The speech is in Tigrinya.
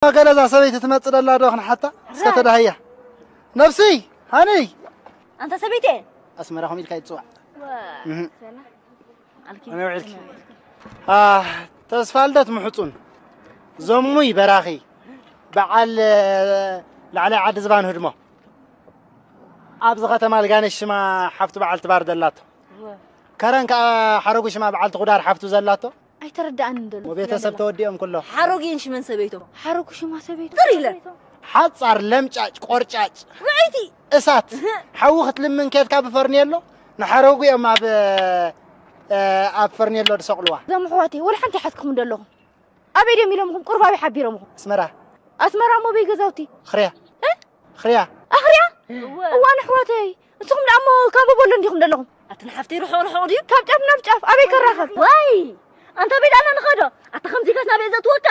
ገለ እዛ ሰበይቲ ትመጽእ ደላ ዶ ክንሓታ? እስከ ተዳህያ። ነብሲ፣ ሃኒ። ኣንታ ሰበይቲ። ኣስመራ ኸም ኢልካ ይጽዋዕ። እህ። ኣነ ውዒልኪ። ኣ፣ ተስፋ ልደት ምሕጹን። ዘሙይ በራኺ። በዓል፣ ላዕላይ ዓዲ ዝባን ህድሞ። ኣብዚ ከተማ ልጋነሽ ሽማ ሓፍቱ በዓልቲ ባር ዘላቶ። ከረን ከኣ ሓረጉ ሽማ በዓልቲ ኹዳር ሓፍቱ ዘላቶ። ኣይተረዳኣንን ዘሎ። ወቤተሰብ ተወዲኦም ኩሎ። ሓረጉ ሽመን ሰበይቶም። ሓረጉ ሽማ ሰበይቱ። ጥር ኢለ። ሓጻር ለምጫጭ ቆርጫጭ። ውዕይቲ። እሳት። እህ። ሓዊ ክትልምን ኬድካ ብፈርኔሎ ንሓረጉ እዮም ኣብ፣ እ፣ ኣብ ፈርኔሎ ዝሰቕልዋ። እዞም ኣሕዋተይ ወላ ሓንቲ ይሓትኩም ዘለኹም። ኣበይ ድዮም ኢሎምኹም? ቁርብ ኣበይ ሓቢሮምኹም? ኣስመራ። ኣስመራ እሞ በይ ገዛውቲ? ኽርያ። እ? ኽርያ። ኣኽርያ? እወ። እዋን ኣሕዋተይ፣ ንስኹም ደኣ እሞ ካብ በሎ እንዲኹም ዘለኹም? ኣቲ ንሓፍተይ ርሑቕ ርሑቕ ድዩ? ካብ ጫፍ ናብ ጫፍ ኣበይ ከራኸብ? ዋይ! ኣንታ ቤት ኣና ንኸዶ። ኣታ ከምዚ ከስ ናበይ ዘእትወካ?